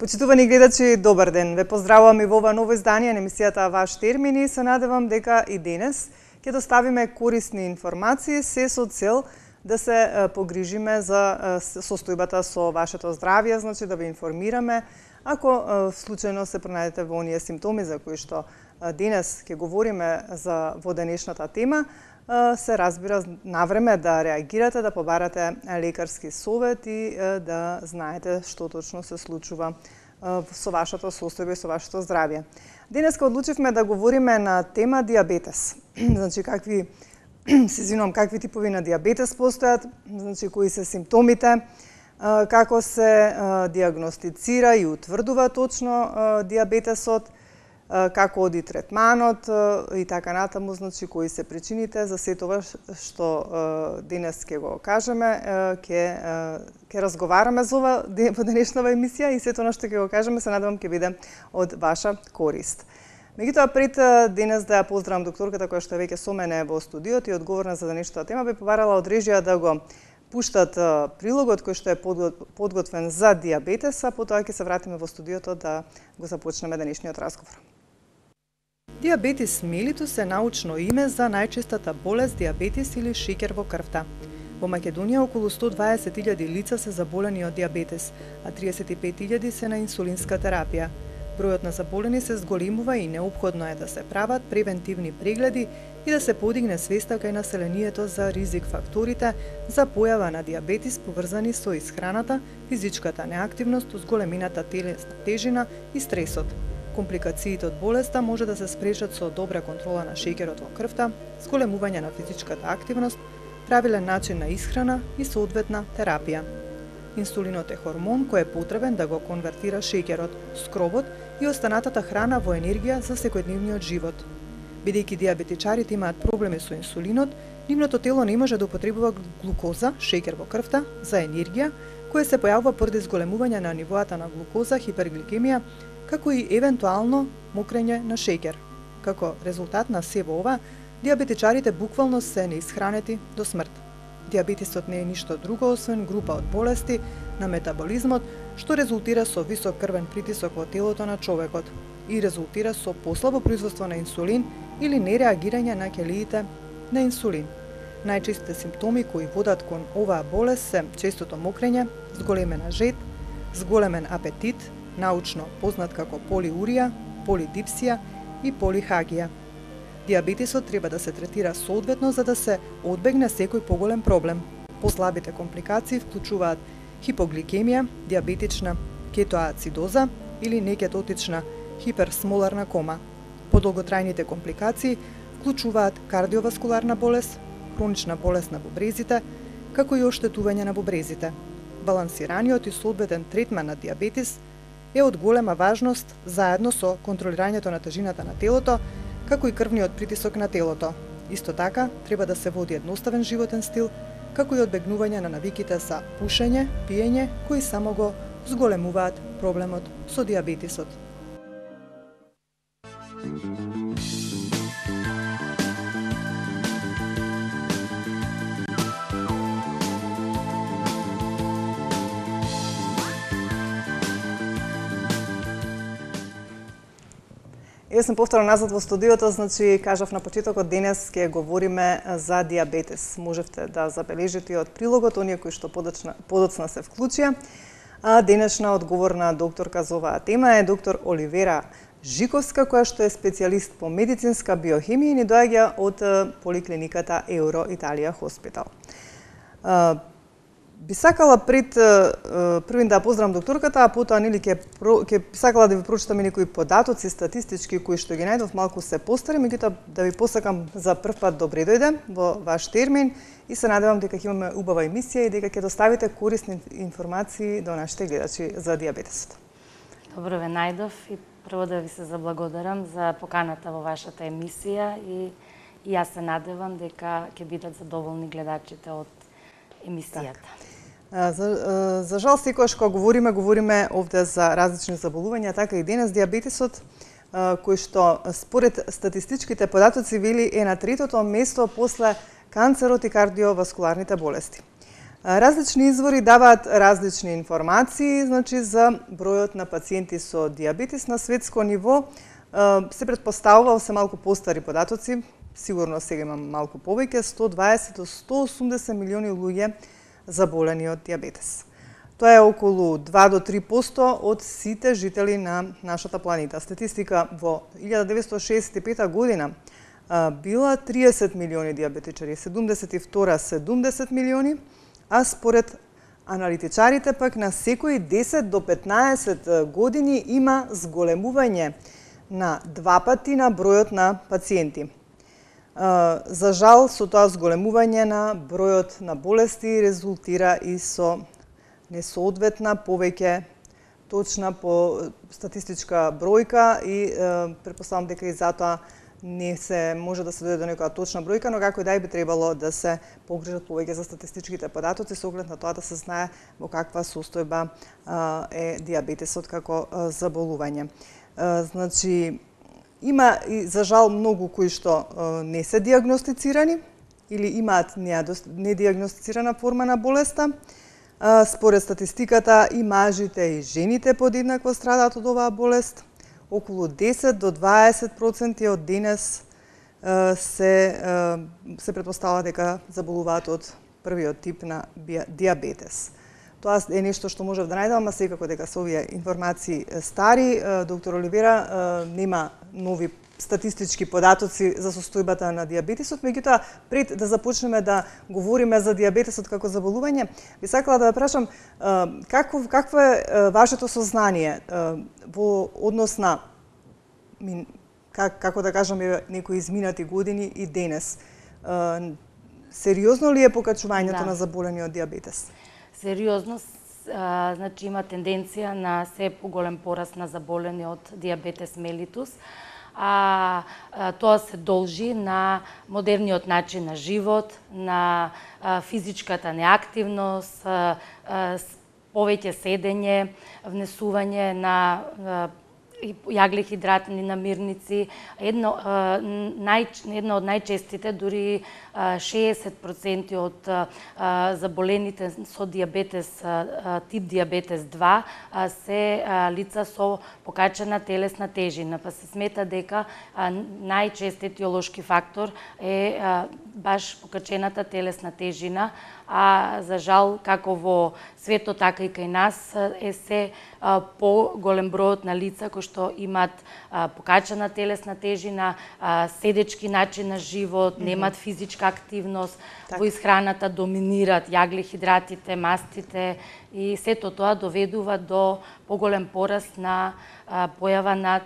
Почитувани гледачи, добар ден. Ве поздравувам и во ова ново издание на емисијата Ваш термин и се надевам дека и денес ќе доставиме корисни информации се со цел да се погрижиме за состојбата со вашето здравје, значи да ве информираме ако случајно се пронајдете во оние симптоми за кои што денес ќе говориме во денешната тема, се разбира навреме да реагирате, да побарате лекарски совет и да знаете што точно се случува со вашето состојба и со вашето здравје. Денеска одлучивме да говориме на тема диабетес. Значи какви типови на диабетес постојат, значи кои се симптомите, како се диагностицира и утврдува точно диабетесот, како оди третманот и така натаму, значи кои се причините за сето ова што денес ќе го кажеме, ќе разговараме за ова во денешната емисија и сето она што ќе го кажеме се надевам ќе биде од ваша корист. Меѓутоа пред денес да ја поздравам докторката која што е веќе со мене во студиото и одговорна за денешната тема, би побарала од режија да го пуштат прилогот кој што е подготвен за диабетес, а потоа ќе се вратиме во студиото да го започнеме денешниот разговор. Диабетис мелитус е научно име за најчестата болест диабетис или шеќер во крвта. Во Македонија околу 120.000 лица се заболени од диабетес, а 35.000 се на инсулинска терапија. Бројот на заболени се зголемува и неопходно е да се прават превентивни прегледи и да се подигне свеста кај населението за ризик факторите за појава на диабетис поврзани со исхраната, физичката неактивност, зголемината телесна тежина и стресот. Компликациите од болеста може да се спречат со добра контрола на шеќерот во крвта, зголемување на физичката активност, правилен начин на исхрана и соодветна терапија. Инсулинот е хормон кој е потребен да го конвертира шеќерот, скробот и останатата храна во енергија за секојдневниот живот. Бидејќи диабетичарите имаат проблеми со инсулинот, нивното тело не може да употребува глукоза, шеќер во крвта, за енергија, која се појавува поради зголемување на нивоата на глукоза, хипергликемија, како и евентуално мокрење на шеќер. Како резултат на сево ова, диабетичарите буквално се неисхранети до смрт. Диабетисот не е ништо друго освен група од болести на метаболизмот, што резултира со висок крвен притисок во телото на човекот и резултира со послабо производство на инсулин или нереагирање на ќелиите на инсулин. Најчестите симптоми кои водат кон оваа болест се честото мокрење, зголемена жед, зголемен апетит, научно познат како полиурија, полидипсија и полихагија. Диабетисот треба да се третира соодветно за да се одбегне секој поголем проблем. Послабите компликации вклучуваат хипогликемија, диабетична кетоацидоза или некетотична хиперсмоларна кома. Подолготрајните компликации вклучуваат кардиоваскуларна болест, хронична болест на бубрезите, како и оштетување на бубрезите. Балансираниот и соодветен третман на диабетис е од голема важност заедно со контролирањето на тежината на телото, како и крвниот притисок на телото. Исто така, треба да се води едноставен животен стил, како и одбегнување на навиките за пушење, пиење, кои само го зголемуваат проблемот со диабетисот. Јас сум повторно назад во студиото, значи кажав на почетокот денес ќе говориме за диабетес. Можевте да забележите од прилогот оние кои што подоцна се вклучија. Денешна одговорна докторка за оваа тема е доктор Оливера Жиковска, која што е специјалист по медицинска биохемија и ни доаѓа од поликлиниката Еуро Италија Хоспитал. Би сакала првин да поздравам докторката, а потоа нели ќе сакала да ви прочитам некои податоци статистички кои што ги најдов, малку се постари, меѓутоа да ви посакам за прв пат добре дојде во ваш термин и се надевам дека ќе имаме убава емисија и дека ќе доставите корисни информации до нашите гледачи за диабетесот. Добро ве најдов и прво да ви се заблагодарам за поканата во вашата емисија и јас се надевам дека ќе бидат задоволни гледачите од емисијата. За жал, секојаш кога говориме овде за различни заболувања, така и денес диабетесот, кој што според статистичките податоци вели е на третото место после канцерот и кардиоваскуларните болести. Различни извори даваат различни информации, значи за бројот на пациенти со диабетес на светско ниво. Се претпоставува се малку постари податоци, сигурно сега имам малку повеќе, 120 до 180 милиони луѓе заболени од диабетес. Тоа е околу 2 до 3% од сите жители на нашата планета. Статистика во 1965 година била 30 милиони диабетичари, 72 70 милиони, а според аналитичарите пак на секои 10 до 15 години има зголемување на 2 пати на бројот на пациенти. За жал, со тоа зголемување на бројот на болести резултира и со несоодветна повеќе точна по статистичка бројка и претпоставам дека и затоа не се може да се дојде до некоја точна бројка, но како и да би требало да се погрижат повеќе за статистичките податоци со оглед на тоа да се знае во каква состојба е диабетесот како заболување. Значи, има и за жал многу кои што не се диагностицирани или имаат недиагностицирана форма на болеста. Според статистиката и мажите и жените подеднакво страдаат од оваа болест. Околу 10 до 20% од денес се претпоставува дека заболуваат од првиот тип на диабетес. Тоа е нешто што можев да најдам, а секако дека се овие информации стари. Доктор Оливера нема нови статистички податоци за состојбата на диабетесот, меѓутоа пред да започнеме да говориме за диабетесот како заболување, би сакала да ве прашам какво е вашето сознание во однос на како да кажеме некои изминати години и денес. Сериозно ли е покачувањето на заболени од диабетес? Сериозно, значи има тенденција на се поголем пораст на заболени од диабетес мелитус. Тоа се должи на модерниот начин на живот, на физичката неактивност, повеќе седење, внесување на јаглехидратни намирници. Едно од најчестите, дури 60% од заболените со диабетес, тип диабетес 2, се лица со покачена телесна тежина. Па се смета дека најчест етиолошки фактор е баш покачената телесна тежина, а за жал, како во светот, така и кај нас, е се поголем бројот на лица кои што имаат покачена телесна тежина, седечки начин на живот, немаат физичка активност, во исхраната доминираат јаглехидратите, мастите и сето тоа доведува до поголем пораст на појава на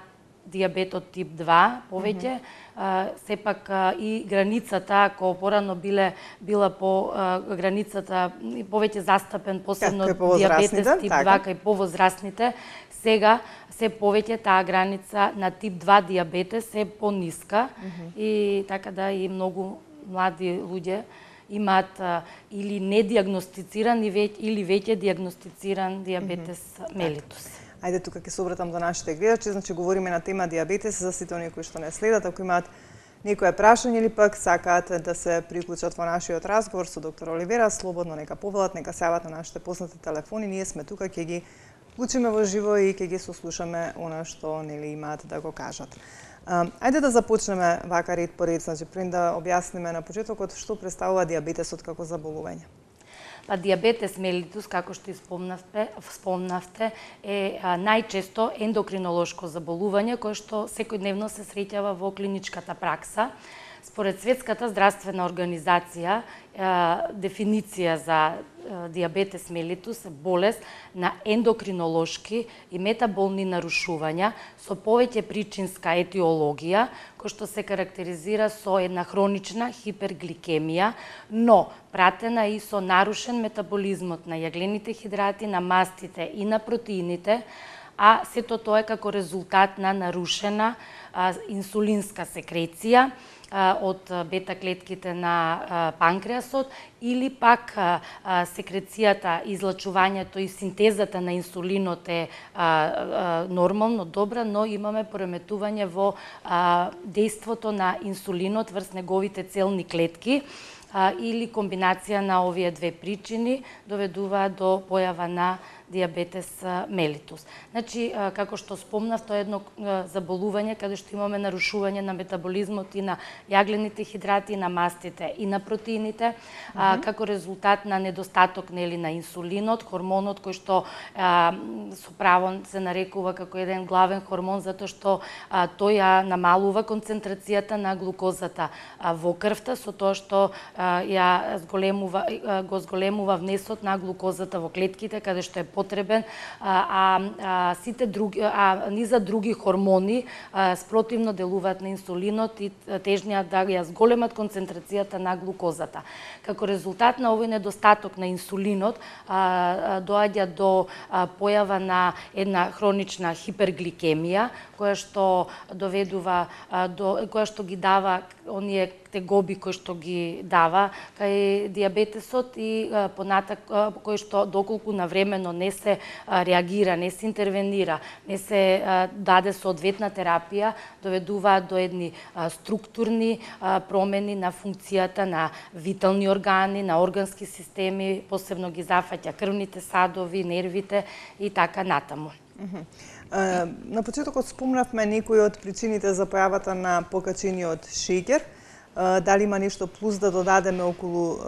диабетот тип 2 повеќе. Сепак и границата, ако порано била по границата повеќе застапен, посебно диабетес тип 2 кај повозрастните, сега се повеќе таа граница на тип 2 диабетес е пониска и така да и многу млади луѓе имаат или недиагностициран или веќе диагностициран диабетес мелитус. Ајде тука ќе се обратам до нашите гледачи, значи говориме на тема диабетес за сите оние кои што не следат, ако имаат некое прашање или пак сакаат да се приклучат во нашиот разговор со доктор Оливера, слободно нека повелат, нека се јават на нашите поснати телефони, ние сме тука, ќе ги вклучиме во живо и ќе ги сослушаме она што нели имаат да го кажат. Ајде да започнеме вака ред по ред, значи пред да објасниме на почетокот што представува диабетесот како заболување. Па диабетес мелитус, како што спомнавте, е најчесто ендокринолошко заболување кое што секојдневно се среќава во клиничката пракса. Според Светската здравствена организација, дефиниција за диабетес мелитус е болест на ендокринолошки и метаболни нарушувања со повеќе причинска етиологија, кој што се карактеризира со една хронична хипергликемија, но пратена и со нарушен метаболизмот на јаглените хидрати, на мастите и на протеините, а сето тоа е како резултат на нарушена инсулинска секреција од бета клетките на панкреасот или пак секрецијата, излачувањето и синтезата на инсулинот е нормално добра, но имаме пореметување во дејството на инсулинот врз неговите целни клетки или комбинација на овие две причини доведуваат до појава на диабетес мелитус. Значи, како што спомнав, тоа е едно заболување каде што имаме нарушување на метаболизмот и на јаглените хидрати, и на мастите, и на протеините, како резултат на недостаток на инсулинот, хормонот кој што со право се нарекува како еден главен хормон, затоа што тој ја намалува концентрацијата на глукозата во крвта, со тоа што го зголемува внесот на глукозата во клетките, каде што е потребен, сите други, низа други хормони спротивно делуваат на инсулинот и тежнеат да ја зголемат концентрацијата на глукозата. Како резултат на овој недостаток на инсулинот доаѓа до појава на една хронична хипергликемија, која што доведува која што ги дава оние тегоби кои што ги дава кај диабетесот и понатак кој што доколку навремено не се реагира, не се интервенира, не се даде соодветна терапија, доведуваат до едни структурни промени на функцијата на витални органи, на органски системи, посебно ги зафаќа крвните садови, нервите и така натаму. На почетокот спомнавме некои од причините за појавата на покачениот шеќер. Дали има нешто плюс да додадеме околу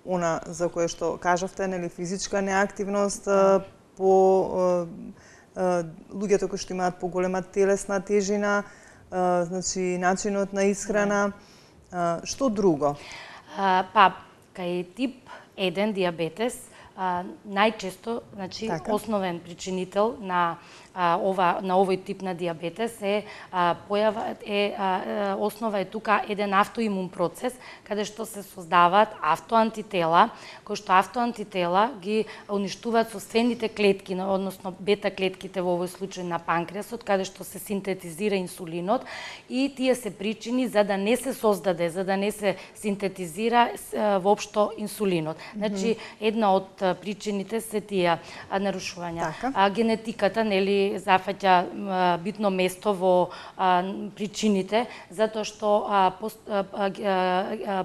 она за кое што кажавте, нели, физичка неактивност, по луѓето кои што имаат поголема телесна тежина, значи начинот на исхрана, што друго? Кај тип 1 диабетес најчесто, значи, основен причинител на овој тип на диабетес основа е тука еден автоимун процес, каде што се создаваат автоантитела, кои што автоантитела ги уништуваат собствените клетки, односно бета клетките во овој случај на панкреасот, каде што се синтетизира инсулинот, и тие се причини за да не се создаде, за да не се синтетизира воопшто инсулинот. Значи, една од причините се тие нарушувања. Генетиката, нели, зафаќа битно место во причините, затоа што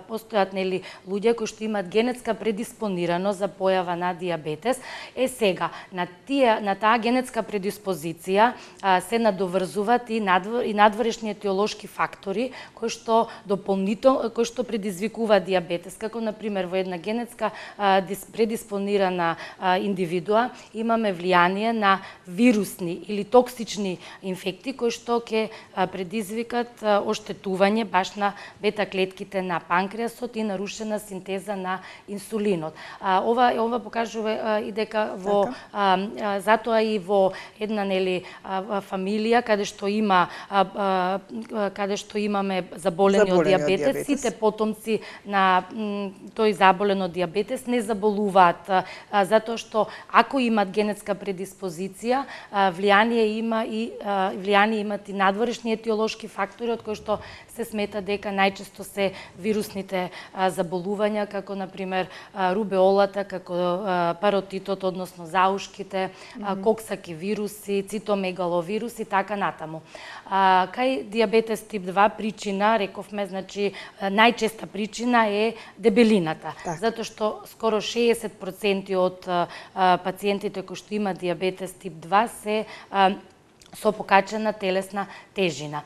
постојат, нели, луѓе кои што имаат генетска предиспонираност за појава на диабетес. Сега, на таа генетска предиспозиција се надоврзуваат и надворешни етиолошки фактори кои што кои што предизвикуваат диабетес, како на пример во една генетска предиспонирана индивидуа имаме влијание на вирусни или токсични инфекти кои што ќе предизвикат оштетување баш на бета клетките на панкреасот и нарушена синтеза на инсулинот. Ова покажува и дека затоа и во една, нели, фамилија каде што имаме заболени од диабетес, сите потомци на тој заболен од диабетес не заболуваат, затоа што ако имат генетска предиспозиција, влијание имат и надворешни етиолошки фактори од кои што се смета дека најчесто се вирусните заболувања, како на пример рубеолата, како паротитот, односно заушките, коксаки вируси, цитомегаловирус и така натаму. Кај диабетес тип 2 причина, рековме, значи најчеста причина е дебелината, затоа што скоро 60% од пациентите кои што имаат диабетес тип 2 се со покачена телесна тежина.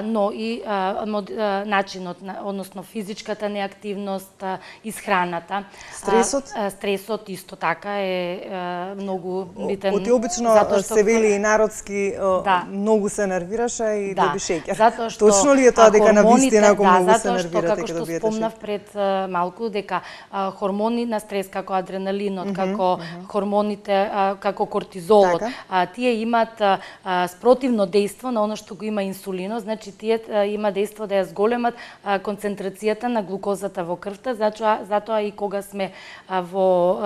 Но и начинот, односно физичката неактивност, исхраната. Стресот исто така е многу битен. Оти обично се вели и народски, многу се нервираше и доби шеќер. Точно ли е тоа дека навистина ако многу се нервирате ќе добиете шеќер? Зато што спомнав пред малку дека хормони на стрес како адреналинот, како хормоните, како кортизолот, тие имаат спротивно дејство на она што го има инсулинот. Значи, тие има дејство да ја зголемат концентрацијата на глукозата во крвта, затоа и кога сме во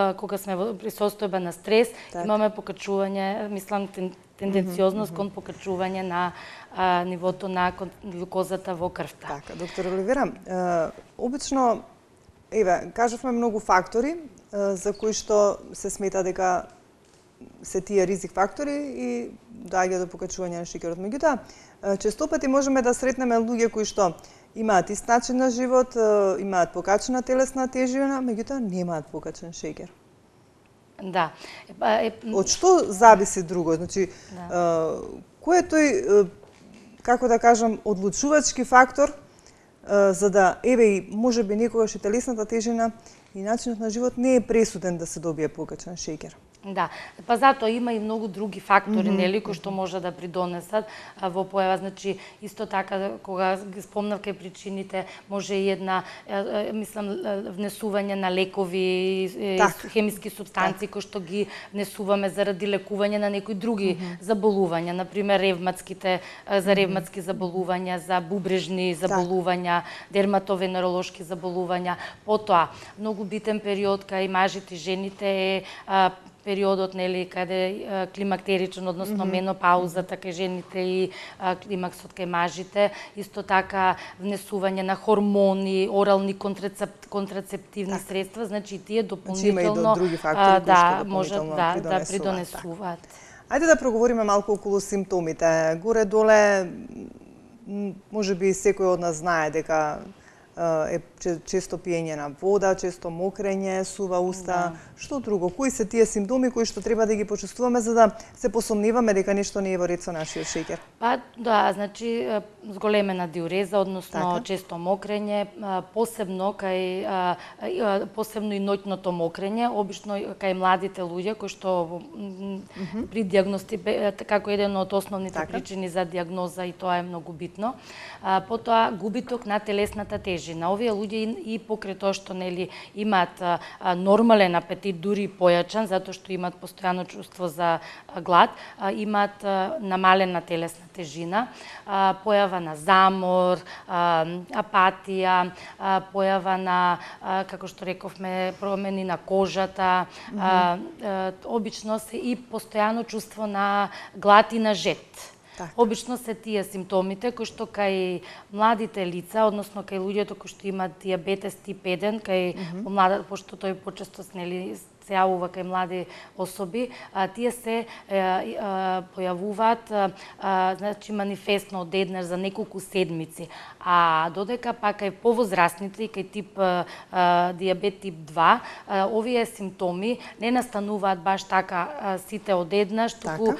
присустојба на стрес, имаме покачување, мислам, тенденциозност кон покачување на нивото на глукозата во крвта. Така, доктор Оливера, обично, кажавме многу фактори за кои што се смета дека се тие ризик фактори и доаѓа до покачување на шеќерот. Меѓутоа, често пати можеме да сретнеме луѓе кои што имаат ист начин на живот, имаат покачена телесна тежина, меѓутоа немаат покачен шеќер. Да. Од што зависи друго? Значи, кој е тој, како да кажам, одлучувачки фактор за да, еве и можеби некогаш и телесната тежина и начинот на живот не е пресуден да се добие покачен шеќер? Да, па затоа има и многу други фактори, нели, кои што може да придонесат во појава. Значи, исто така, кога ги спомнав кај причините, може и една, мислам, внесување на лекови, хемиски супстанции кои што ги внесуваме заради лекување на некои други заболувања, например за ревматски заболувања, за бубрежни заболувања, дерматовенеролошки заболувања. Потоа, многу битен период кај мажите и жените е периодот, нели, каде климактеричен, односно менопаузата кај жените и климаксот кај мажите, исто така внесување на хормони, орални контрацептивни средства, значи тие дополнително други фактори кои што можат да придонесуваат. Ајде да проговориме малку околу симптомите. Горе-доле, можеби секој од нас знае дека е често пиење на вода, често мокрење, сува уста. Што друго? Кои се тие симптоми кои што треба да ги почувствуваме за да се посомневаме дека нешто не е во ред со нашиот шеќер? Па да, значи зголемена диуреза, односно често мокрење, посебно и ноќното мокрење, обично кај младите луѓе кои што при како еден од основните причини за диагноза, и тоа е многу битно. Потоа губиток на телесната тежина. Овие луѓе и покрај тоа што, нели, имаат нормален апетит, дури појачан, затоа што имаат постојано чувство за глад, имаат намалена телесна тежина, појава на замор, апатија, појава на, како што рековме, промени на кожата, обично се и постојано чувство на глад и на жед. Обично се тие симптомите кои што кај младите лица, односно кај луѓето кои што имаат дијабетес тип 1, кај пошто тој почесто, нели, се јавува кај млади особи, тие се појавуваат, значи, манифестно од еднаш за неколку седмици. А додека пак кај повозрастните и кај тип дијабет тип 2, овие симптоми не настануваат баш така сите од еднаш, туку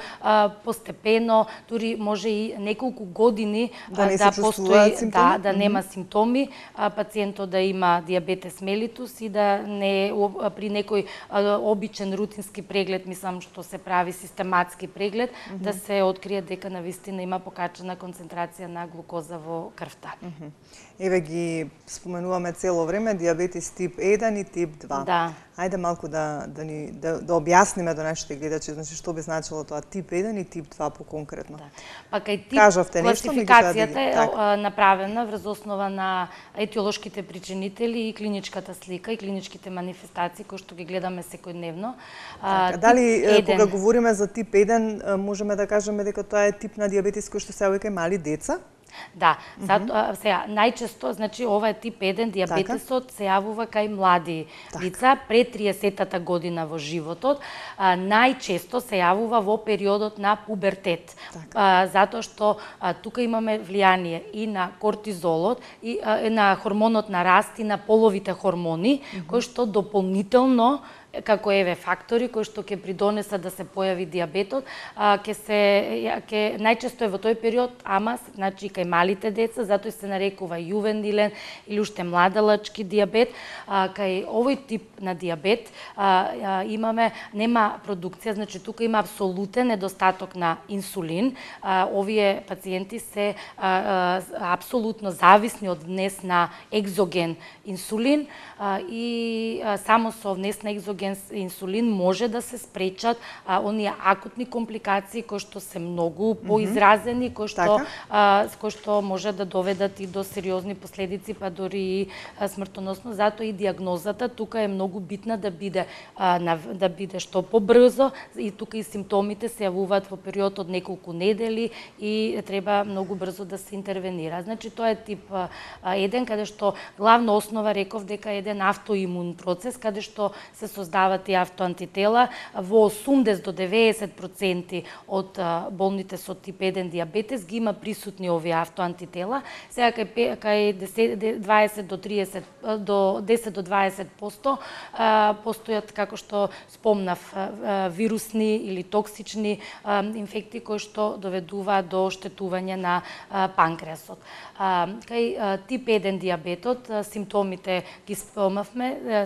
постепено, дури може и неколку години да постои, да нема симптоми, пациентот да има дијабетес мелитус и да не при некој обичен рутински преглед, мислам што се прави систематски преглед, да се открие дека навистина има покачена концентрација на глукоза во крвта. Еве ги споменуваме цело време дијабетес тип 1 и тип 2. Да. Ајде малку да објасниме до нашите гледачи, значи што би значило тоа тип 1 и тип 2 поконкретно. Па кај тип класификацијата е направена врз основа на етиолошките причинители и клиничката слика и клиничките манифестации кои што ги гледаме секојдневно. Дали кога говориме за тип 1 можеме да кажеме дека тоа е тип на дијабетес кој што се јавува кај мали деца? Да, сега најчесто, значи ова е тип 1 дијабетесот се јавува кај млади лица пред 30-та година во животот, најчесто се јавува во периодот на пубертет, затоа што тука имаме влијание и на кортизолот, и на хормонот на раст и на половите хормони, кои што дополнително како еве фактори кои што ќе придонесат да се појави дијабетот, најчесто е во тој период, ама значи кај малите деца, затоа се нарекува јувенилен или уште младалачки дијабет. Кај овој тип на дијабет нема продукција, значи тука има апсолутен недостаток на инсулин. Овие пациенти се апсолутно зависни од внес на екзоген инсулин и само со внес на екзоген инсулин може да се спречат оние акутни компликации кои што се многу поизразени, кои што може да доведат и до сериозни последици, па дури и смртоносно. Затоа и диагнозата тука е многу битна да биде што побрзо, и тука и симптомите се јавуваат во период од неколку недели и треба многу брзо да се интервенира. Значи тоа е тип 1, каде што главна основа реков дека е еден автоимун процес, каде што се создава создаваат и автоантитела. Во 80 до 90% од болните со тип 1 диабетес ги има присутни овие автоантитела. Сега кај 20 до 30 до 10 до 20% постојат, како што спомнав, вирусни или токсични инфекти кои што доведуваат до оштетување на панкреасот. Кај тип 1 диабетот симптомите ги спомнавме,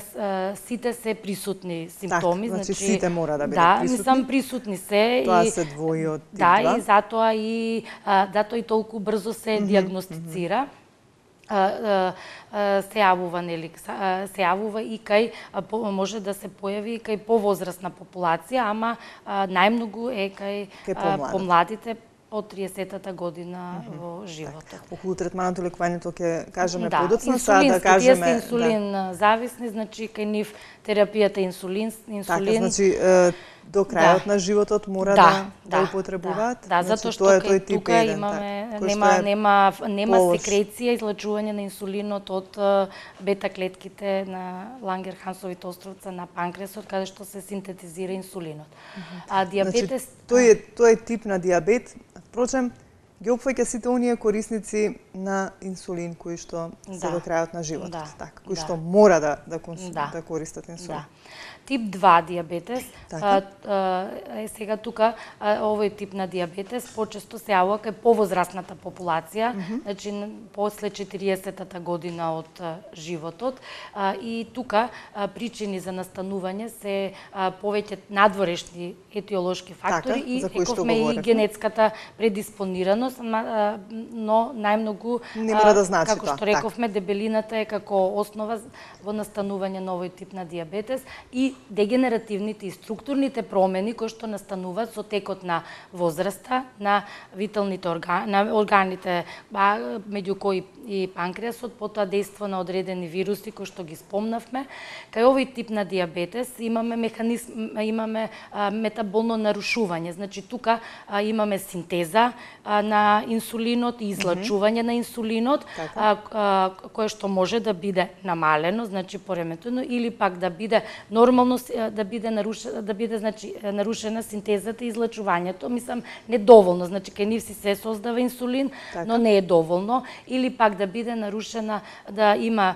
сите се присутни симптоми, значи сите мора да бидат присутни. Да, мислам присутни се. Тоа се двои од тип 2. Да, и затоа и толку брзо се диагностицира. Се јавува и кај може да се појави кај повозрастна популација, ама најмногу е кај помладите од 30-та година во животот. Околу третманот и лекувањето ќе кажеме подоцна, да кажеме инсулин зависни, значи кај нив терапијата инсулин. Така, значи до крајот на животот мора да употребуваат. Да, затоа што кај тука имаме нема секреција, излачување на инсулинот од бета клетките на Лангерхансовите островца на панкреасот, каде што се синтетизира инсулинот. А диабетес тој е тип на диабет. Впрочем, ги опфаќа сите оние корисници на инсулин кои што се до крајот на животот, така, кои што мора да користат инсулин. Тип 2 диабетес, сега тука овој тип на диабетес почесто се јавува кај повозрастната популација, значи после 40-та година од животот, и тука причини за настанување се повеќе надворешни етиолошки фактори и рековме и генетската предиспонираност, но најмногу, како што рековме, дебелината е како основа во настанување на овој тип на диабетес и дегенеративните и структурните промени кои што настануваат со текот на возраста, на виталните органите, меѓу кои и панкреасот, потоа дејство на одредени вируси кои што ги спомнавме. Кај овој тип на диабетес имаме метаболно нарушување, значи тука имаме синтеза на инсулинот и излачување на инсулинот, кое што може да биде намалено, значи пореметено, или пак да биде нормално, да биде нарушена синтезата и излачувањето. Мислам, недоволно, значи кај нив се создава инсулин, но не е доволно, или пак да биде нарушена, да има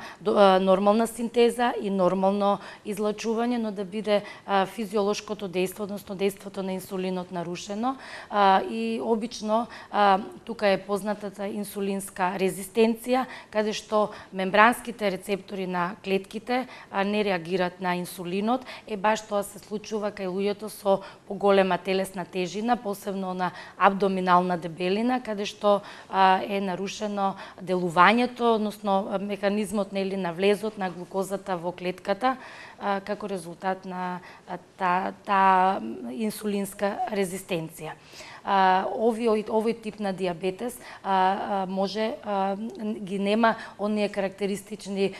нормална синтеза и нормално излачување, но да биде физиолошкото дејство, односно дејството на инсулинот нарушено. И обично тука е познатата инсулинска резистенција, каде што мембранските рецептори на клетките не реагираат на инсулинот. Баш тоа се случува кај луѓето со поголема телесна тежина, посебно на абдоминална дебелина, каде што е нарушено делувањето, односно механизмот на влезот на глукозата во клетката, како резултат на таа инсулинска резистенција. Овој тип на диабетес може ги нема оние карактеристични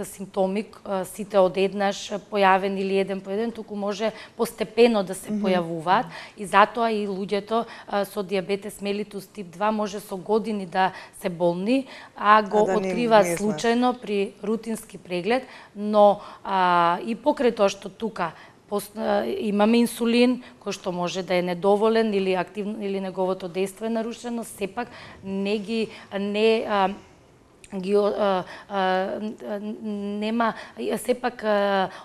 симптоми, сите одеднаш појавени или еден по еден, туку може постепено да се појавуваат и затоа и луѓето со диабетес мелитус тип 2 може со години да се болни, а го откриваат случајно при рутински преглед, но и покрај тоа што тука имаме инсулин кој што може да е недоволен или активно или неговото дејство е нарушено, сепак нема сепак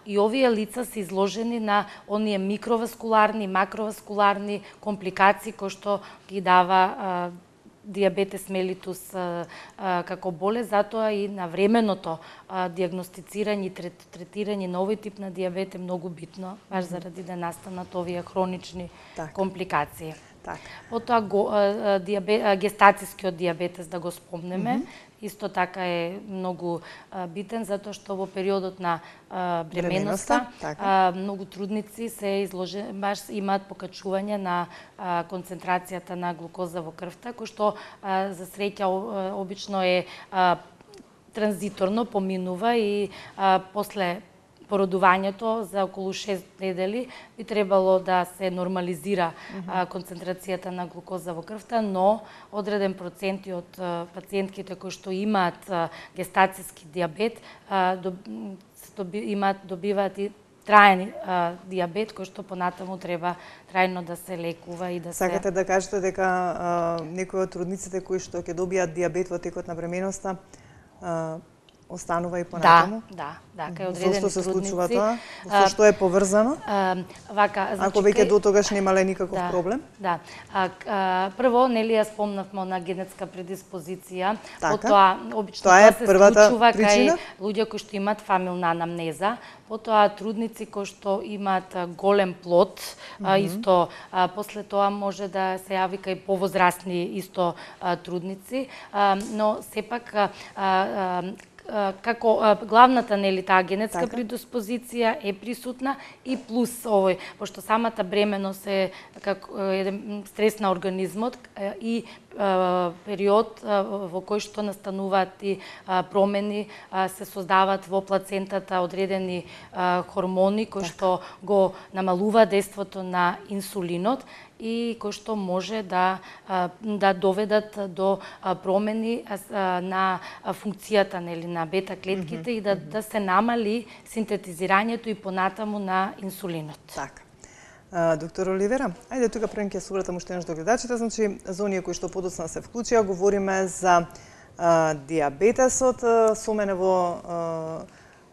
и овие лица се изложени на оние микроваскуларни, макроваскуларни компликации кои што ги дава диабетес мелитус како болест, затоа и навременото диагностицирање и третирање на овој тип на диабет е многу битно, баш заради да настанат овие хронични компликации. Потоа гестацијскиот диабетес, да го спомнеме, исто така е многу битен, затоа што во периодот на бременоста многу трудници се изложени, баш имаат покачување на концентрацијата на глукоза во крвта, кој што за среќа обично е транзиторно, поминува и после породувањето за околу 6 недели би требало да се нормализира концентрацијата на глукоза во крвта, но одреден проценти од пациентките кои што имаат гестацијски диабет добиваат и траен диабет кој што понатаму треба трајно да се лекува и да се... Сакате да кажете дека некои од трудниците кои што ќе добијат диабет во текот на бременоста останува и понатаму? Да, кај одредени трудници. Зошто се случува тоа? Со што е поврзано? Ако веќе до тогаш немале никаков проблем? Да. Прво, нели ја спомнавме на генетска предиспозиција, потоа обично тоа се случува кај луѓе кои што имаат фамилна анамнеза, потоа трудници кои што имаат голем плод, исто после тоа може да се јави кај повозрасни исто трудници, но сепак како главната нели таа генетска предиспозиција е присутна и плюс овој, пошто самата бременост е како еден стрес на организмот и период во кој што настануваат и промени, се создаваат во плацентата одредени хормони кои што го намалуваат дејството на инсулинот и кои што може да доведат до промени на функцијата нели на бета клетките и да се намали синтетизирањето и понатаму на инсулинот. Така. Доктор Оливера, ајде тука пред ќе се обратам уште еднаш до гледачите, значи за оние кои што подоцна се вклучија, говориме за диабетесот. Со мене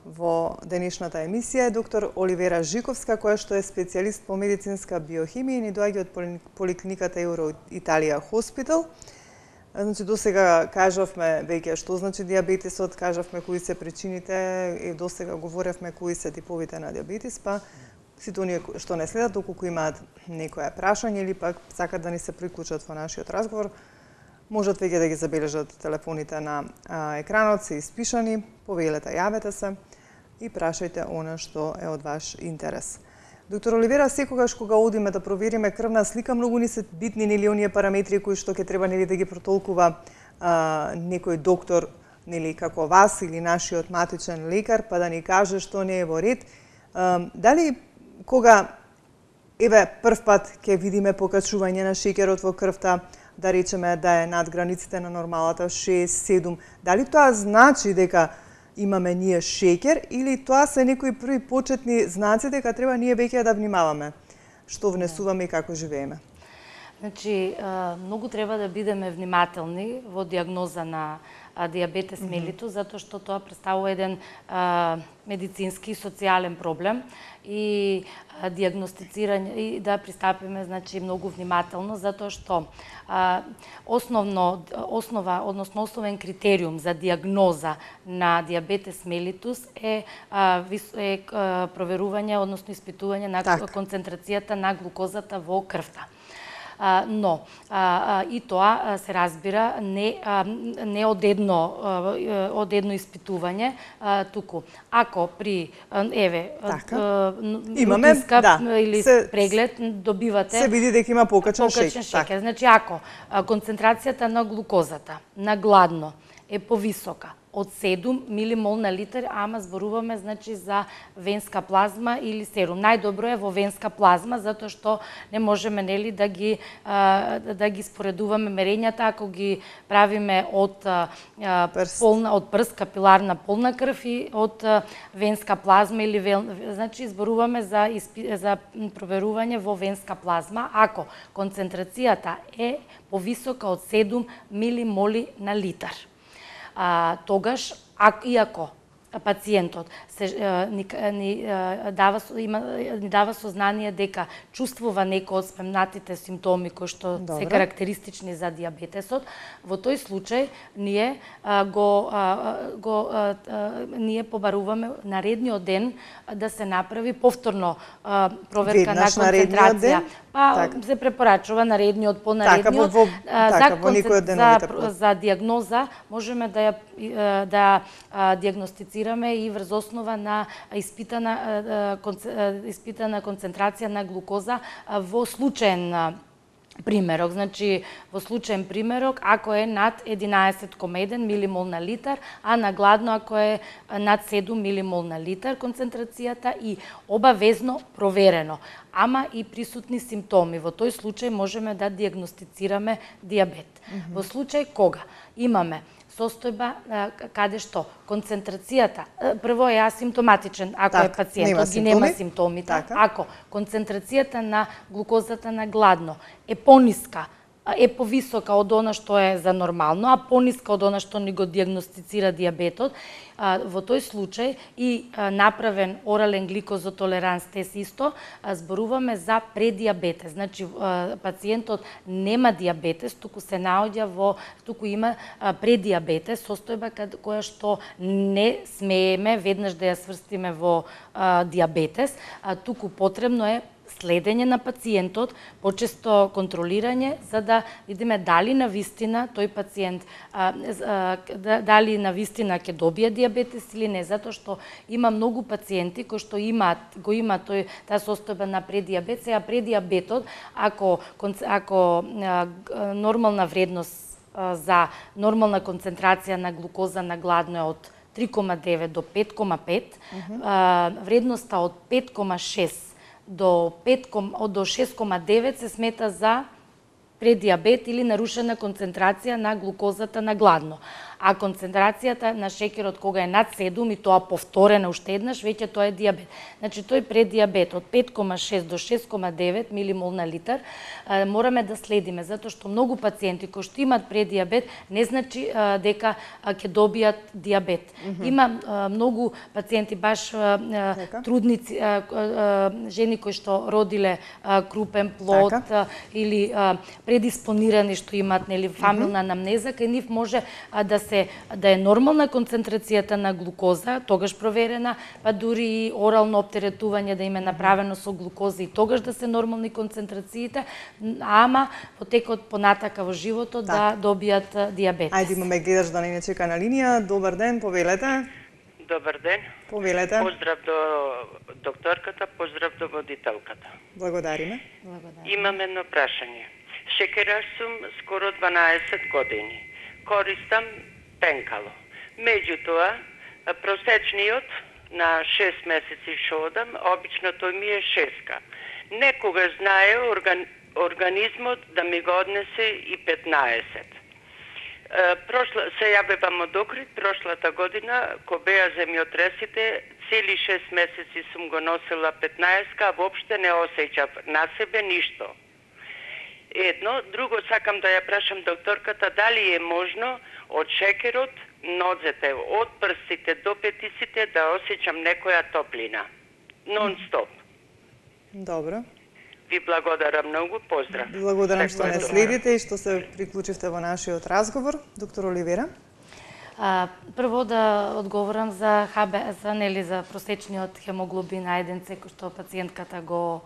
во денешната емисија е доктор Оливера Жиковска, која што е специјалист по медицинска биохимија и ни доаѓа од поликлиниката Еуро Италија Хоспитал. Значи, досега кажавме веќе што значи диабетесот, кажавме кои се причините и досега говоревме кои се типовите на диабетес, па сите оние што не следат, доколку имаат некоја прашање или пак сакат да ни се приклучат во нашиот разговор, можат веќе да ги забележат телефоните на екранот, се испишани, повелете, јавете се и прашајте она што е од ваш интерес. Доктор Оливера, секогаш кога одиме да провериме крвна слика, многу ни се битни нели оние параметри кои што ќе треба нели да ги протолкува некој доктор нели како вас или нашиот матичен лекар, па да ни каже што не е во ред. Дали кога прв пат ќе видиме покачување на шеќерот во крвта, да речеме да е над границите на нормалата 6-7, дали тоа значи дека имаме ние шеќер или тоа се некои први почетни знаци дека треба ние веќе да внимаваме што внесуваме и како живееме? Значи, многу треба да бидеме внимателни во диагноза на диабетес мелитус, затоа што тоа представува еден медицински и социјален проблем и диагностицирање и да пристапиме значи многу внимателно, затоа што основен критериум за диагноза на диабетес мелитус е проверување, односно испитување на концентрацијата на глукозата во крвта. Но и тоа се разбира не од едно испитување, туку ако при имаме или преглед добивате се види дека има покачен шеќер. Значи ако концентрацијата на глукозата на гладно е повисока од 7 милимол на литар, ама зборуваме значи за венска плазма или серум. Најдобро е во венска плазма, затоа што не можеме нели да ги споредуваме мерењата ако ги правиме од прст, капиларна полна крв и од венска плазма или значи зборуваме за проверување во венска плазма ако концентрацијата е повисока од 7 милимоли на литар. Тогаш, иако пациентот ни дава сознание дека чувствува некои од спомнатите симптоми кои што се карактеристични за диабетесот, во тој случај ние ние побаруваме наредниот ден да се направи повторно проверка на концентрација. Па се препорачува наредниот по наредниот. За диагноза можеме да диагностицираме и врз основа на испитана концентрација на глукоза во случаен примерок. Значи, во случаен примерок, ако е над 11,1 милимол на литар, а на гладно ако е над 7 милимол на литар концентрацијата и обавезно проверено, ама и присутни симптоми. Во тој случај можеме да диагностицираме диабет. Во случај кога имаме состојба каде што концентрацијата прво е асимптоматичен ако е пациентот ги нема симптомите, ако концентрацијата на глукозата на гладно е пониска, е повисока од она што е за нормално, а пониска од она што ни го дијагностицира дијабетот, во тој случај и направен орален гликозотолеранс тест исто, зборуваме за предијабетес. Значи, пациентот нема дијабетес, туку се наоѓа туку има предијабетес, состојба која што не смееме веднаш да ја сврстиме во дијабетес, туку потребно е следење на пациентот, почесто контролирање, за да видиме дали на вистина тој пациент дали на вистина ќе добие дијабетес или не, затоа што има многу пациенти кои што има таа состојба на предијабет, сега предијабетот ако нормална вредност за нормална концентрација на глукоза на гладно е од 3,9 до 5,5, вредноста од 5,6 до 6,9 се смета за предијабет или нарушена концентрација на глукозата на гладно. А концентрацијата на шеќерот кога е над 7 и тоа повторена уште еднаш, веќе тоа е дијабет. Значи тој предијабет од 5,6 до 6,9 милимол на литар мораме да следиме, затоа што многу пациенти кои што имаат предијабет не значи дека ќе добијат дијабет. Има многу пациенти, баш трудници, жени кои што родиле крупен плод или предиспонирани што имаат фамилна анамнеза, кај нив може да е нормална концентрацијата на глукоза, тогаш проверена, па дури и орално оптеретување да им е направено со глукоза и тогаш да се нормални концентрациите, ама во текот понатака во животот да добијат дијабетес. Ајде, имаме гледаш да не чека на линија. Добар ден, повелете. Добар ден. Повелете. Поздрав до докторката, поздрав до водителката. Благодариме. Имам едно прашање. Шекераш сум скоро 12 години. Користам пенкало. Меѓутоа, просечниот на 6 месеци што одам, обично тој ми е 6. Некогаш знае организмот да ми го однесе и 15. Се јавивам од Охрид, прошлата година, ко беа земјотресите, цели 6 месеци сум го носила 15, а воопште не осеќав на себе ништо. Едно, друго сакам да ја прашам докторката дали е можно од шекерот, нозете, од прстите до петиците да осеќам некоја топлина. Нон-стоп. Добро. Ви благодарам многу, поздрав. Благодарам што не следите и што се приклучивте во нашиот разговор. Доктор Оливера. Прво да одговорам за за просечниот хемоглобин А1C кој што пациентката го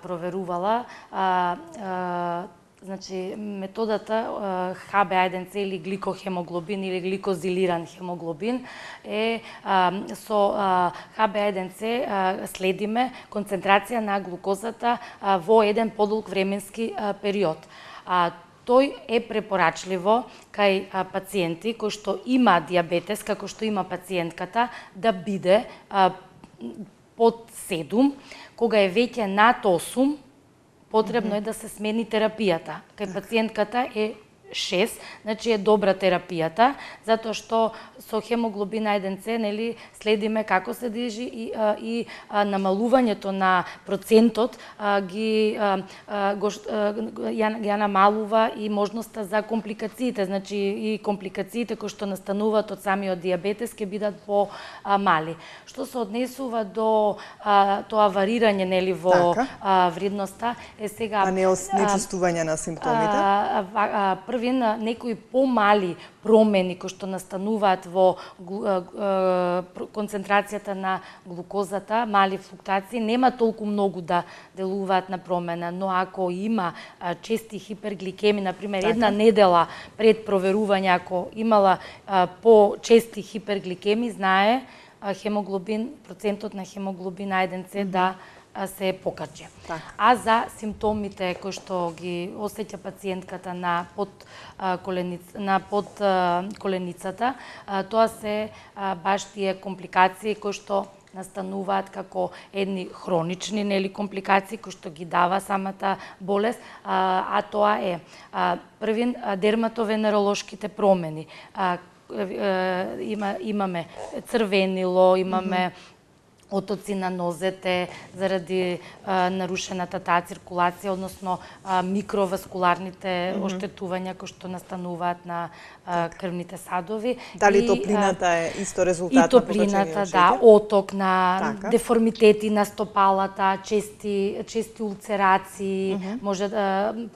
проверувала. Значи, методата HbA1c или гликохемоглобин или гликозилиран хемоглобин е со HbA1c следиме концентрација на глукозата во еден подолг временски период. Тој е препорачливо кај пациенти кои што има дијабетес, како што има пациентката, да биде под 7, кога е веќе над 8, потребно е да се смени терапијата. Кај пациентката е 6, значи е добра терапијата, затоа што со хемоглобин А1C следиме како се движи и намалувањето на процентот ја намалува и можноста за компликациите, значи и компликациите кои што настануваат од самиот дијабетес ќе бидат по-мали. Што се однесува до тоа варирање во вредноста е сега нечувствување на симптомите. Некои помали промени кои што настануваат во концентрацијата на глукозата, мали флуктуации, нема толку многу да делуваат на промена, но ако има чести хипергликеми, например, една недела пред проверување, ако имала по-чести хипергликеми, знае процентот на хемоглобин А1C да се покачи. А за симптомите кои што ги осеќа пациентката на под коленицата, тоа се баш тие компликации кои што настануваат како едни хронични компликации кои што ги дава самата болест, а тоа е први дерматовенеролошките промени. Имаме црвенило, имаме отоци на нозете заради нарушената таа циркулација, односно микроваскуларните оштетувања кои што настануваат на крвните садови. Дали топлината е исто резултат на топлината, да, оток на деформитети на стопалата, чести улцерации, може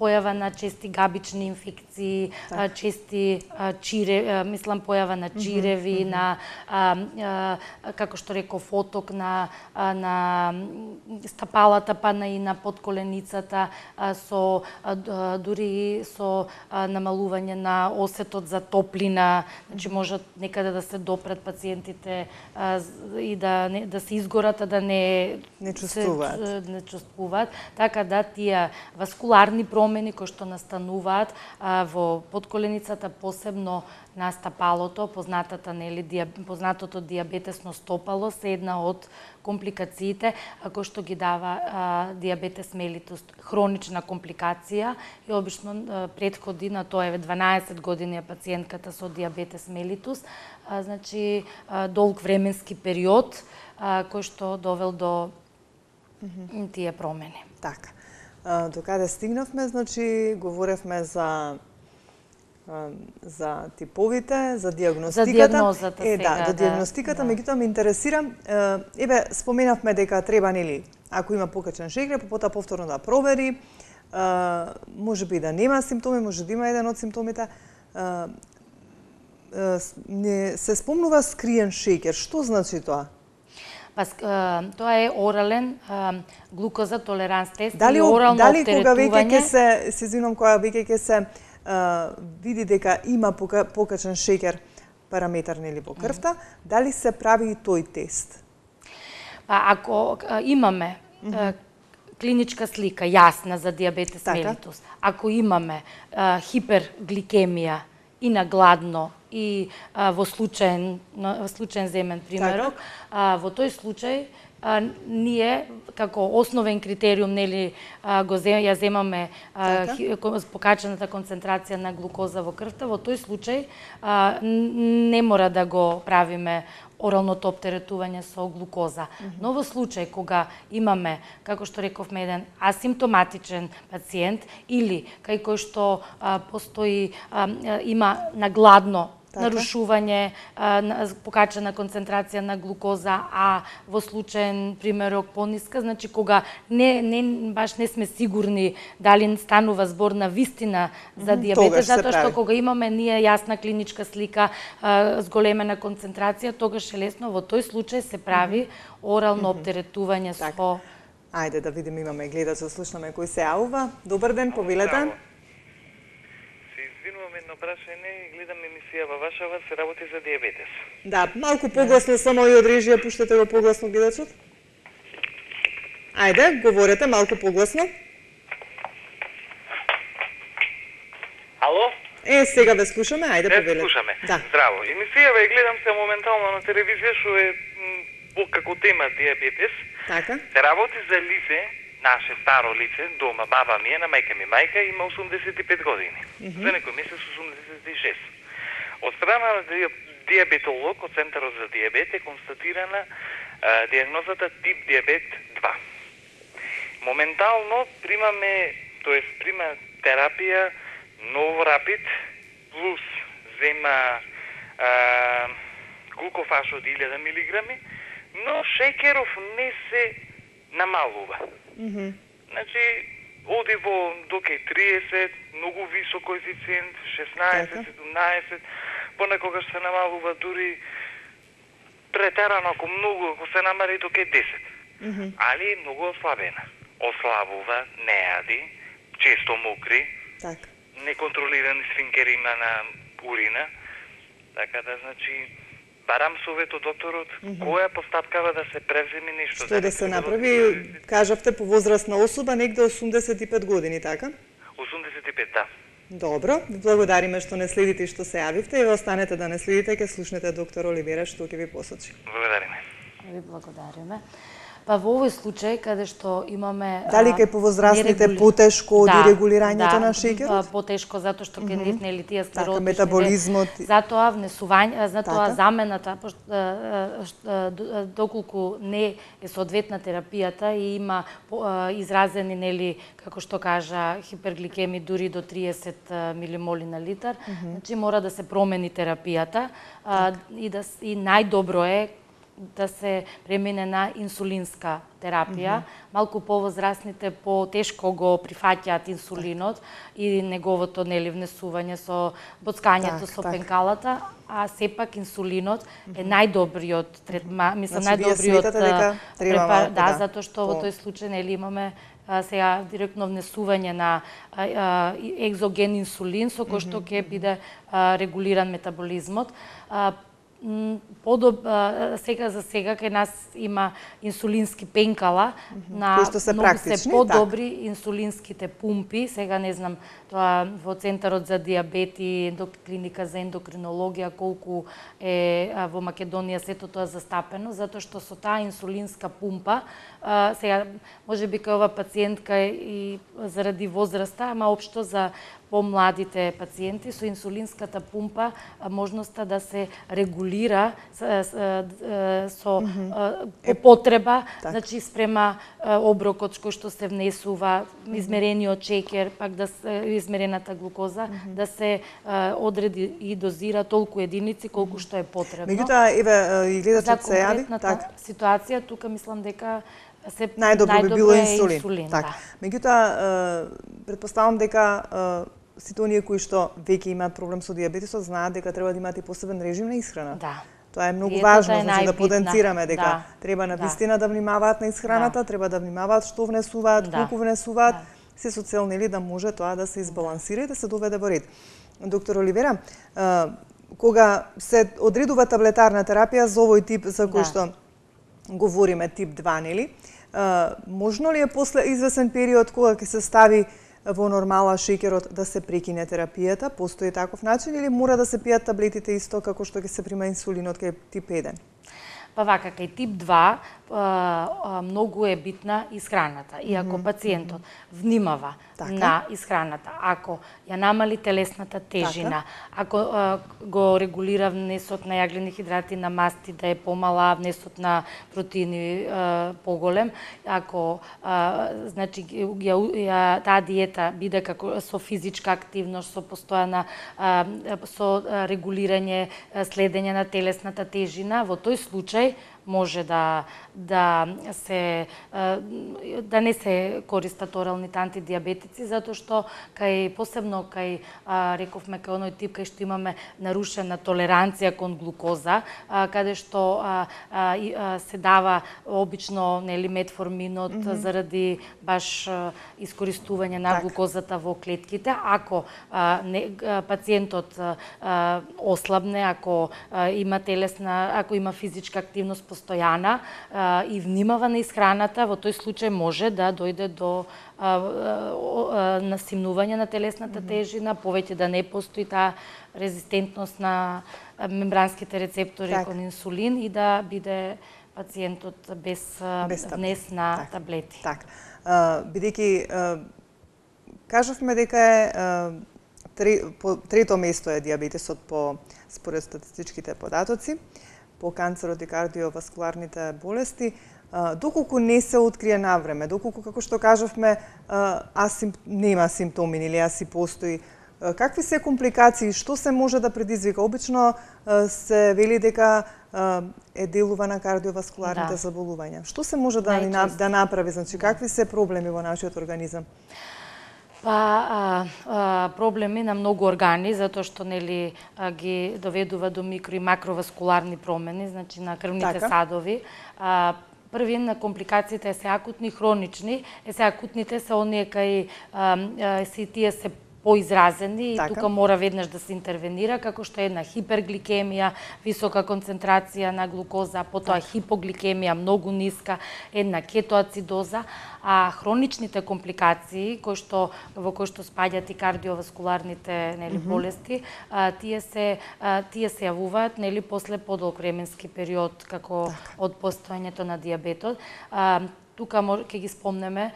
појава на чести габични инфекции, чести појава на чиреви, на како што реков, оток на стапалата, па и на подколеницата, дури со намалување на осетот за топлина, значи можат некаде да се допрат пациентите и да се изгорат, да не чувствуваат. Така да тие васкуларни промени кои што настануваат во подколеницата, посебно на стапалото, познатото диабетесно стопало, се една од компликациите кои што ги дава диабетес мелитус, хронична компликација и обично претходи на тоа е 12 години пациентката со диабетес мелитус, значи долг временски период кој што довел до тие промени. Така. Докаде стигнавме, значи говоревме за типовите, за диагностиката. За диагнозата сега, до диагностиката, меѓутоа ме интересира, споменавме дека треба, ако има покачен шеќер, потоа повторно да провери, можеби да нема симптоми, може да има еден од симптомите. Се спомнува скриен шеќер. Што значи тоа? Тоа е орален глукоза толеранс тест и орално оптеретување. Дали кога веќе се извинувам, кога веќе ќе се види дека има покачен шеќер параметар во крвта, дали се прави и тој тест? Ако имаме клиничка слика јасна за диабетес мелитус, ако имаме хипергликемија и на гладно и во случаен земен примерок, во тој случај ние како основен критериум ја земаме покачената концентрација на глукоза во крвта, во тој случај не мора да го правиме оралното оптеретување со глукоза. Но во случај кога имаме, како што рековме, еден асимптоматичен пациент или кај кој што постои има нагладно нарушување, покачена концентрација на глукоза, а во случаен примерок пониска, значи кога баш не сме сигурни дали станува збор на вистина за диабетес, затоа што кога имаме ние јасна клиничка слика, зголемена концентрација, тогаш е лесно во тој случај се прави орално оптеретување со... Ајде да видиме, имаме гледач, да слушнаме кој се јавува. Добар ден, повелете. Едно прашање, гледам емисијава вашава, се работи за диабетес. Да, малку погласно само и од режија, пуштете го погласно гледачот. Ајде, говорете малку погласно. Ало? Сега ве слушаме, ајде повелете. Слушаме. Да. Здраво. Емисијава ја гледам се моментално на телевизија, што е како тема диабетес. Така. Се работи за лице, наше старо лице, дома, баба ми е, на мајка ми мајка, има 85 години. За некој месец 86. Од страна на диабетолог од Центарот за диабет е констатирана диагнозата тип диабет 2. Моментално примаме, прима терапија Новорапид плюс зема глукофашот 1000 милиграми, но шеќеров не се намалува. Значи, оди во доке 30, многу висок коефициент, 16, 17, понекогаш се намалува дури претерано, ако многу, ако се намали доке 10. Али е многу ослабена. Ослабува, не јади, често мокри, неконтролирани сфинкери има на урина, така да, значи, барам совет од докторот, која постапкава да се превземе нешто. Што да се направи, кажавте, по возрастна особа, негде 85 години, така? 85, да. Добро, благодариме што не следите и што се јавивте и останете да не следите, ќе слушнете доктор Оливера што ќе ви посочи. Благодариме. Ви благодариме. Па во овој случај каде што имаме дали кај повозрастните потешко од регулирањето на шеќерот? Потешко затоа што кај нив нели тие склеротични метаболизмот. Затоа внесување, затоа замената доколку не е соодветна терапијата и има изразени нели како што кажа хипергликеми дури до 30 милимоли на литар, значи мора да се промени терапијата и најдобро е да се премине на инсулинска терапија. Малку повозрастните потешко го прифаќаат инсулинот и неговото нели внесување со боцкањето со пенкалата, а сепак инсулинот е најдобриот третман, мислам најдобриот препарат, затоа што во тој случај нели имаме сега директно внесување на екзоген инсулин со кој што ќе биде регулиран метаболизмот. Сега за сега кај нас има инсулински пенкала на многу се подобри инсулинските пумпи. Сега не знам тоа во Центарот за дијабет и клиника за ендокринологија колку е во Македонија сето тоа застапено, затоа што со таа инсулинска пумпа сега можеби кај ова пациентка и заради возраста, ама општо за помладите пациенти со инсулинската пумпа можноста да се регулира со потреба, значи спрема оброкот кој што се внесува, измерениот шеќер, пак да измерената глукоза, да се одреди и дозира толку единици колку што е потребно. Меѓутоа, еве и гледачот се јави, така ситуација тука мислам дека најдобро би било инсулин. Така. Меѓутоа, предпоставам дека сите оние кои што веќе имаат проблем со дијабетесот знаат дека треба да имаат и посебен режим на исхрана. Да. Тоа е многу важно, значи да потенцираме дека треба на вистина да внимаваат на исхраната, треба да внимаваат што внесуваат, колку внесуваат, се со цел нели да може тоа да се избалансира и да се доведе во ред. Доктор Оливера, кога се одредува таблетарна терапија за овој тип за кој што говориме, тип 2, нели? Можно ли е после извесен период кога ќе се стави во нормала шеќерот да се прекине терапијата? Постои таков начин или мора да се пијат таблетите исто како што ќе се прима инсулинот кај тип 1? Па вака, кај тип 2 многу е битна исхраната. И ако пациентот внимава на исхраната, ако ја намали телесната тежина, ако го регулира внесот на јаглени хидрати, на масти да е помала, внесот на протеини поголем, ако значи таа диета биде како со физичка активност, со постојана со регулирање, следење на телесната тежина, во тој случај може да не се користат оралните антидиабетици, затоа што посебно кај рековме кај оној тип кај што имаме нарушена толеранција кон глукоза, каде што се дава обично нели метформинот заради баш искористување на глукозата во клетките. Ако пациентот ослабне, ако има телесна, ако има физичка активност постојана и внимава на исхраната, во тој случај може да дојде до насимнување на телесната тежина, повеќе да не постои таа резистентност на мембранските рецептори кон инсулин и да биде пациентот без внес на таблети. Така. Бидејќи кажавме дека е трето место е дијабетесот според статистичките податоци, по канцерот и кардиоваскуларните болести, доколку не се открие навреме, доколку, како што кажавме, нема симптоми или аси постои, какви се компликации, што се може да предизвика? Обично се вели дека е делува на кардиоваскуларните заболувања. Што се може да направи? Значи, какви се проблеми во нашиот организам? Проблеми на многу органи, затоа што нели ги доведува до микро и макроваскуларни промени, значи на крвните садови. Први на компликациите се акутни и хронични. Акутните се оние кај тие се поизразени и тука мора веднаш да се интервенира, како што е една хипергликемија, висока концентрација на глукоза, потоа хипогликемија многу ниска, една кетоацидоза, а хроничните компликации во кои што спаѓаат и кардиоваскуларните болести, тие се јавуваат после подолг временски период како од постоењето на дијабетот. Тука ќе ги спомнеме,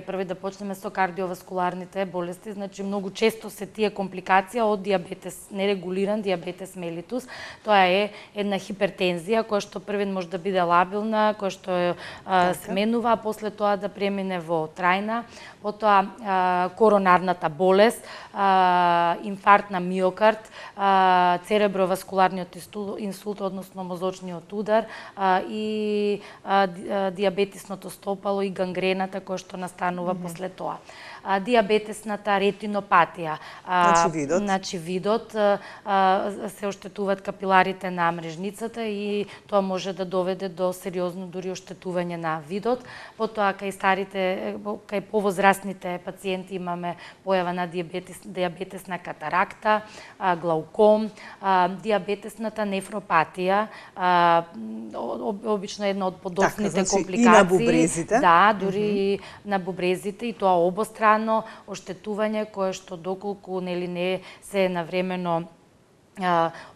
први да почнеме со кардиоваскуларните болести, значи многу често се тие компликации од дијабетес, нерегулиран дијабетес мелитус. Тоа е една хипертензија која што првен може да биде лабилна, која што се менува, а после тоа да премине во трајна, потоа коронарната болест, инфаркт на миокард, цереброваскуларниот инсулт, односно мозочниот удар и дијабетисното стопало и гангрената која што настанува после тоа. Дијабетесната ретинопатија. Значи видот се оштетуваат капиларите на мрежницата и тоа може да доведе до сериозно дури оштетување на видот. Потоа кај повозрастните пациенти имаме појава на дијабетесна катаракта, глауком, дијабетесната нефропатија, обично една од подоцните компликации. И на бубрезите. Да, дури и на бубрезите, и тоа обострано оштетување кое што доколку не се навремено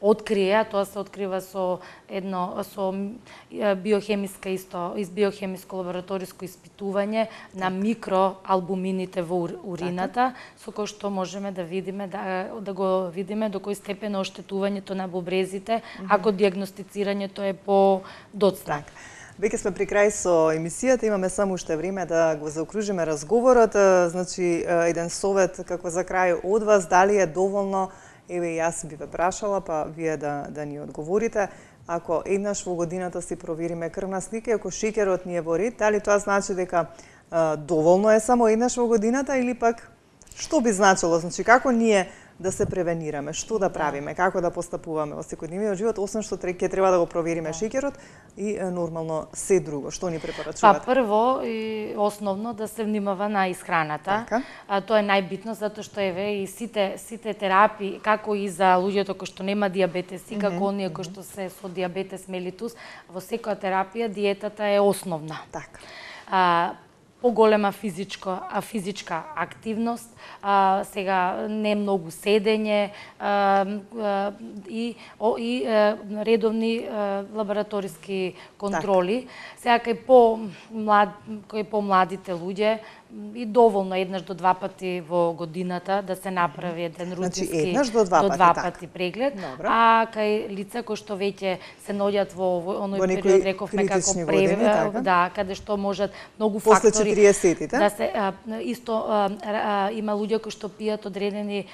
открие, тоа се открива со биохемиско лабораториско испитување на микроалбумините во урината, со кој што можеме да го видиме до кој степен оштетувањето на бубрезите, ако дијагностицирањето е подоцна. Веќе сме при крај со емисијата, имаме само уште време да го заокружиме разговорот. Значи, еден совет како за крај од вас, дали е доволно, јас би ве прашала, па вие да ни одговорите, ако еднаш во годината си провериме крвна слика, ако шеќерот ни е во ред, дали тоа значи дека доволно е само еднаш во годината или пак што би значило? Значи, како ние да се превенираме, што да правиме, како да постапуваме во секојдневниот живот, освен што ќе треба да го провериме шеќерот и нормално се друго. Што ни препорачувате? Прво и основно да се внимава на исхраната. Тоа е најбитно затоа што и сите терапии, како и за луѓето кои што нема дијабетес и како оние кои што се со дијабетес мелитус, во секоја терапија диетата е основна. Поголема физичка активност, сега не многу седење и редовни лабораториски контроли. Сега кај помладите луѓе и доволно еднаш до два пати во годината да се направи еден рутински до два пати преглед, а кај лица кои што веќе се наоѓаат во оној период, рековме како каде што можат многу фактори да се има луѓе кои што пијат одредени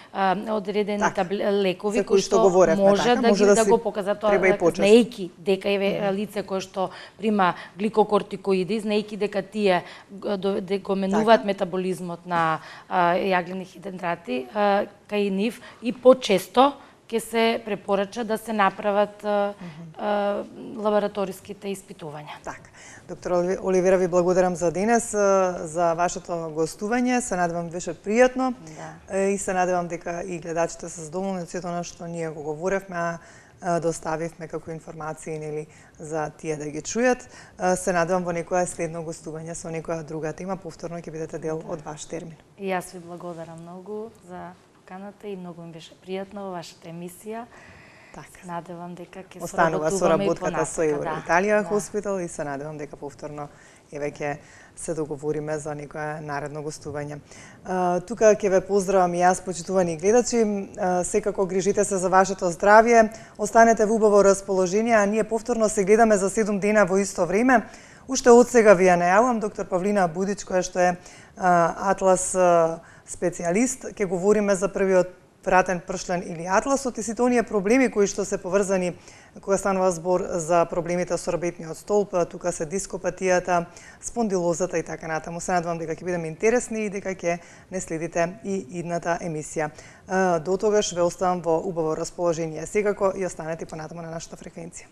лекови кои што може да го покажат тоа, знаејќи дека е лице кое што прима гликокортикоиди, знаејќи дека тие го менуваат метаболизмот на јаглени хидранти кај нив и почесто ќе се препорача да се направат лабораториските испитувања. Доктор Оливера, ви благодарам за денес, за вашето гостување. Се надевам беше пријатно и се надевам дека и гледачите се задоволни од сето она што ние го говоревме, доставивме како информации за тие да ги чујат. Се надевам во некоја следно гостување со некоја друга тема, повторно ќе бидете дел од ваш термин. И јас ви благодарам многу за поканата и многу ми беше пријатно во вашата емисија. Се надевам дека ќе останува со работката со Италија Хоспитал и се надевам дека повторно ќе се договориме за некоја наредно гостување. Тука ќе ве поздравам и јас, почитувани гледачи. Секако грижите се за вашето здравје, останете во убаво расположение, а ние повторно се гледаме за 7 дена во исто време. Уште од сега ви ја најавам доктор Павлина Будич, која што е атлас специјалист. Ќе говориме за првиот вратен пршлен или атласот и сите оние проблеми кои што се поврзани кога станува збор за проблемите со рбетниот столб, тука се дископатијата, спондилозата и така натаму. Се надевам дека ќе бидеме интересни и дека ќе не следите и идната емисија. До тогаш ве оставам во убаво расположение. Секако и останете понатаму на нашата фреквенција.